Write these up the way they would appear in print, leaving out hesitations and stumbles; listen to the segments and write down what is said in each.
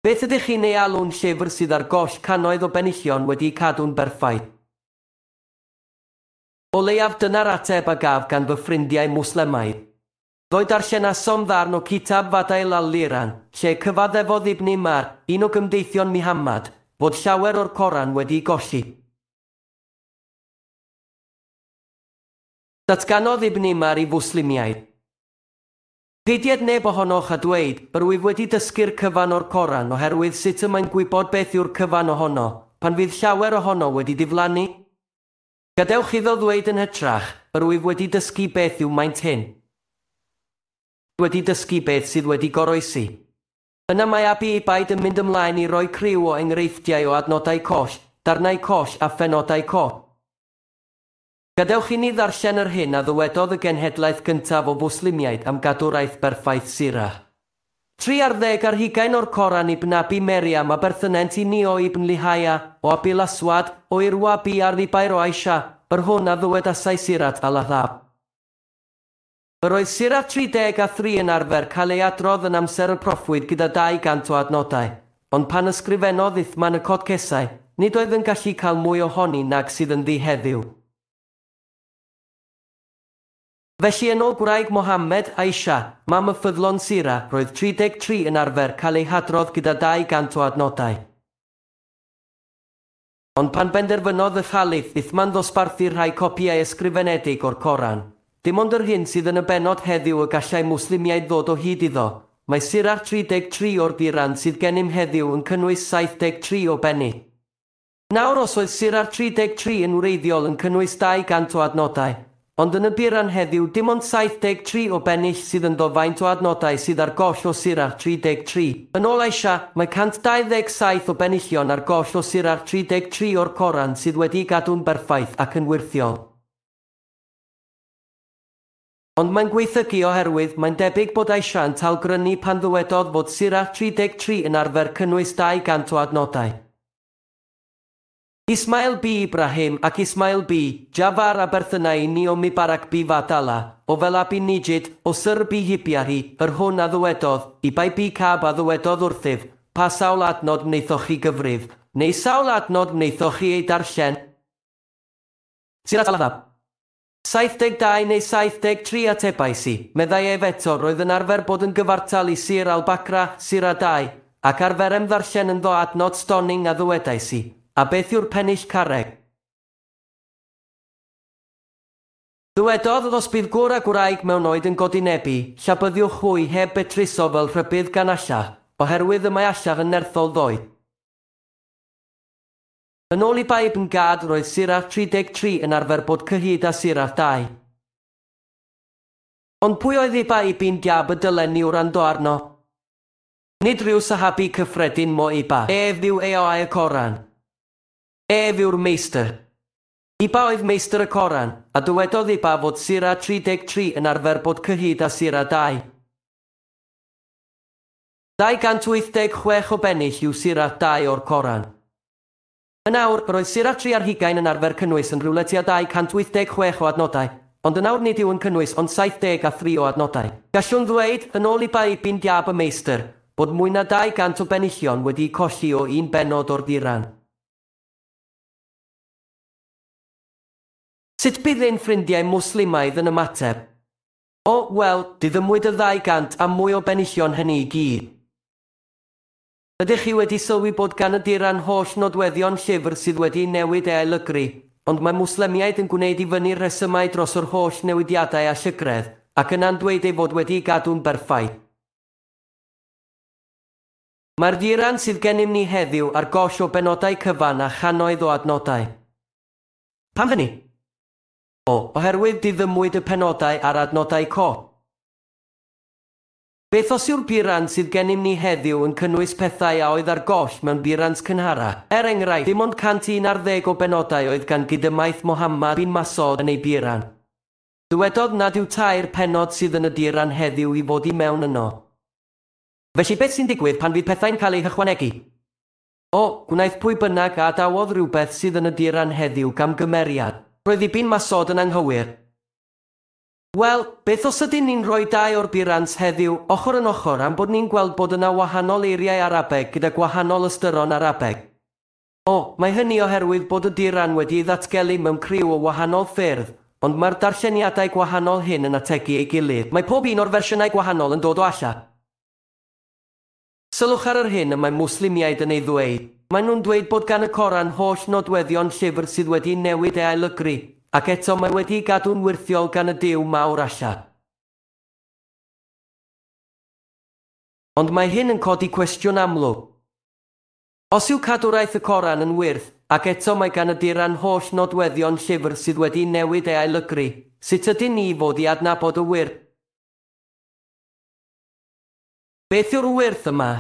Beth ydych chi'n ei alw'n llyfr sydd ar goll cannoedd o benillion wedi'u cadw'n berffaith? O leiaf dyna'r ateb a gaf gan fy ffrindiau Mwslemaidd. Ddoe darllenasom ddarn o Kitab Fadail al-Liran, lle cyfaddefodd Ibn Umar, un o gymdeithion Muhammad, fod llawer o'r Coran wedi'i golli. Datganodd Ibn Umar i Fwslimiaid. Peidied neb ohonoch â dweud, 'Yr wyf wedi dysgu'r cyfan o'r Coran' oherwydd sut y mae'n gwybod beth yw'r cyfan ohono, pan fydd llawer ohono wedi diflannu? Gadewch iddo ddweud yn hytrach, 'Yr wyf wedi dysgu beth yw maint hyn. Wedi dysgu beth sydd wedi goroesi. Yna mae Abi Ubaid yn mynd ymlaen i roi criw o enghreifftiau o adnodau coll, darnau coll a phenodau coll. Gadewch inni ddarllen yr hyn a ddywedodd y genhedlaeth gyntaf o Fwslimiaid am gadwraeth berffaith Sirah. 23 o'r Coran Ibn Abi Meriam a berthynent i ni o Ibn Lihaya, o Abil Aswad, o Urwa bi ar Zubair o Aisha, yr hwn a ddywedasai Sirat al-Ahzab. Yr oedd Sirah 33 yn arfer cael ei adrodd yn amser y Proffwyd gyda 200 o adnodau, ond pan ysgrifennodd Uthman y Codcesau, nid oedd yn gallu cael mwy ohoni nag sydd ynddi heddiw. Felly yn ôl gwraig Mohammed, Aisha, mam y ffyddlon Sira, roedd 33 yn arfer cael ei hadrodd gyda 200 o adnodau. Ond pan benderfynodd y Khalif, Uthman ddosbarthu rhai copïau ysgrifenedig o'r Coran, dim ond yr hyn sydd yn y bennod heddiw y gallai Mwslimiaid ddod o hyd iddo, mae Surah 33 o'r Quran sydd gennym heddiw yn cynnwys 73 o benni. Nawr os oedd Surah 33 yn wreiddiol yn cynnwys 200 o adnodau, ond yn y Quran heddiw dim ond 73 o bennill sydd ynddo faint o adnodau sydd ar goll o Surah 33. Yn ôl Aisha, mae 127 o benillion ar goll o Surah 33 o'r Coran sydd wedi'i gadw'n berffaith ac yn wyrthiol. Ond mae'n gwaethygu oherwydd mae'n debyg bod Aisha yn talgrynu pan ddywedodd fod Surah 33 yn arfer cynnwys 200 o adnodau. Ismail b Ibrahim ac Ismail b Jafar a berthynai i ni o Mubarak b Fadala, o Fela b Nijid, o Syr b Hibiari, yr hwn a ddywedodd, Ibai b Cab a ddywedodd wrthyf, pa sawl adnod wnaethoch chi gyfrif, neu sawl adnod wnaethoch chi ei darllen? Sirat al-Ahzab. 72 neu 73 atebais i, meddai ef eto, roedd yn arfer bod yn gyfartal i Sir al-Baqra, Sura 2, ac arferem ddarllen ynddo adnod stoning a ddywedais i, a beth yw'r pennill carreg? Dywedodd, os bydd gŵr a gwraig mewn oed yn godinebu, llabyddiwch hwy heb betruso fel rhybudd gan Allah, oherwydd y mae Allah yn nerthol ddoe. Yn ôl Ibai ibn Gad, roedd Surah 33 yn arfer bod cyhyd â Surah 2. Ond pwy oedd Ibai ibn Gab y dylen ni wrando arno? Nid rhyw sahabi cyffredin mo Iba. Ef yw eoau y Coran. Ef yw'r meistr. Iba oedd meistr y Coran, a dywedodd Iba fod Surah 33 yn arfer bod cyhyd â Surah 2. 286 o bennill yw Surah 2 o'r Coran. Yn awr, roedd Surah 23 yn arfer cynnwys yn rhywle tua 286 o adnodau, ond yn awr nid yw yn cynnwys ond 73 o adnodau. Gallwn ddweud, yn ôl Ibai ibn Diab y meistr, bod mwy na 200 o benillion wedi'u colli o un bennod o'r Quran. Sut bydd ein ffrindiau Mwslimaidd yn ymateb? O, wel, diddymwyd y 200 a mwy o benillion hynny i gyd. Ydych chi wedi sylwi bod gan y Quran holl nodweddion llyfr sydd wedi'i newid ei ailygru, ond mae Mwslemiaid yn gwneud i fyny rhesymau dros yr holl newidiadau a llygredd, ac yna'n dweud ei fod wedi'i gadw'n berffaith. Mae'r Quran sydd gennym ni heddiw ar goll o benodau cyfan a channoedd o adnodau. Pam hynny? O, oherwydd diddymwyd y penodau a'r adnodau coll. Beth os yw'r Quran sydd gennym ni heddiw yn cynnwys pethau a oedd ar goll mewn Qurans cynharach? Er enghraifft, dim ond 111 o benodau oedd gan gydymaith Muhammad bin Mas'ud yn ei Quran. Dywedodd nad yw tair pennod sydd yn y Quran heddiw i fod i mewn yno. Felly beth sy'n digwydd pan fydd pethau'n cael eu hychwanegu? O, gwnaeth pwy bynnag a adawodd rhywbeth sydd yn y Quran heddiw gamgymeriad. Roedd Ibn Mas'ud yn anghywir. Wel, beth os ydyn ni'n rhoi dau o'r Burans heddiw ochr yn ochr am bod ni'n gweld bod yna wahanol eiriau Arabeg gyda gwahanol ystyron Arabeg? O, mae hynny oherwydd bod y Quran wedi ei ddatgelu mewn criw o wahanol ffyrdd, ond mae'r darlleniadau gwahanol hyn yn ategu ei gilydd. Mae pob un o'r fersiynau gwahanol yn dod o Allah. Sylwch ar yr hyn y mae Mwslimiaid yn ei ddweud. Maen nhw'n dweud bod gan y Coran holl nodweddion llyfr sydd wedi newid ei ailygru, ac eto mae wedi'i gadw'n wyrthiol gan y Duw mawr Allah. Ond mae hyn yn codi cwestiwn amlwg. Os yw cadwraeth y Coran yn wyrth, ac eto mae gan y Quran holl nodweddion llyfr sydd wedi newid ei ailygru, sut ydyn ni fod i adnabod y wyrth? Beth yw'r wyrth yma?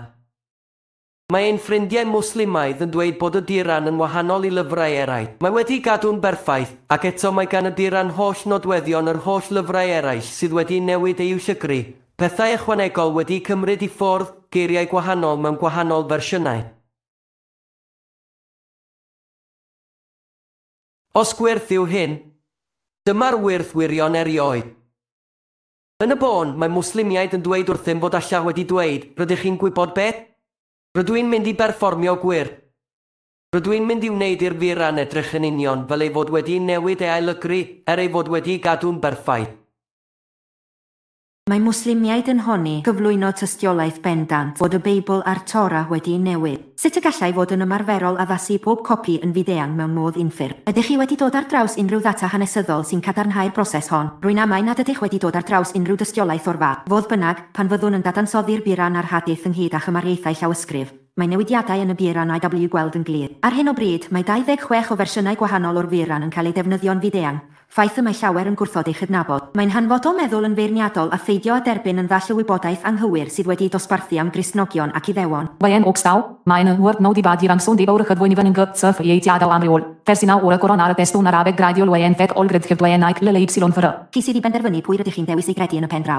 Mae ein ffrindiau Mwslimaidd yn dweud bod y Quran yn wahanol i lyfrau eraill. Mae wedi gadw'n berffaith, ac eto mae gan y Quran holl nodweddion yr holl lyfrau eraill sydd wedi newid eu llygru, pethau ychwanegol wedi cymryd i ffwrdd, geiriau gwahanol mewn gwahanol fersiynau. Os gwyrth yw hyn, dyma'r wyrth wirion erioed. Yn y bôn, mae Mwslimiaid yn dweud wrthym fod Allah wedi dweud, rydych chi'n gwybod beth? Rydw i'n mynd i berfformio gwyrth. Rydw i'n mynd i wneud i'r Quran edrych yn union fel ei fod wedi newid ei ailygru er ei fod wedi gadw'n berffaith. Mae Mwslimiaid yn honni gyflwyno tystiolaeth bendant fod y Beibl a'r Torah wedi'i newid. Sut y gallai fod yn ymarferol addasu pob copi yn fyd-eang mewn modd unffurf? Ydych chi wedi dod ar draws unrhyw ddata hanesyddol sy'n cadarnhau'r broses hon? Rwy'n amau nad ydych wedi dod ar draws unrhyw dystiolaeth o'r fath. Fodd bynnag, pan fyddwn yn dadansoddi'r Quran a'r Hadith ynghyd â chymariaethau llawysgrif, mae newidiadau yn y Quran i'w gweld yn glir. Ar hyn o bryd, mae 26 o fersiynau gwahanol o'r Quran yn cael eu defnyddio'n fyd-eang, ffaith y mae llawer yn gwrthod ei chydnabod. Mae'n hanfodol meddwl yn feirniadol a pheidio â derbyn yn ddall y wybodaeth anghywir sydd wedi'i dosbarthu am Gristnogion ac Iddewon. Wayen okstaw, meine word nou die badjirang son die bouwige dwoiniven g c v j tjadaw amriol. Versina ora koronare testo narabeg gradiol wayen vet olgrid wayen nike lele y fr. Chi sydd i benderfynu pwy rydych chi'n dewis ei gredu yn y pen draw.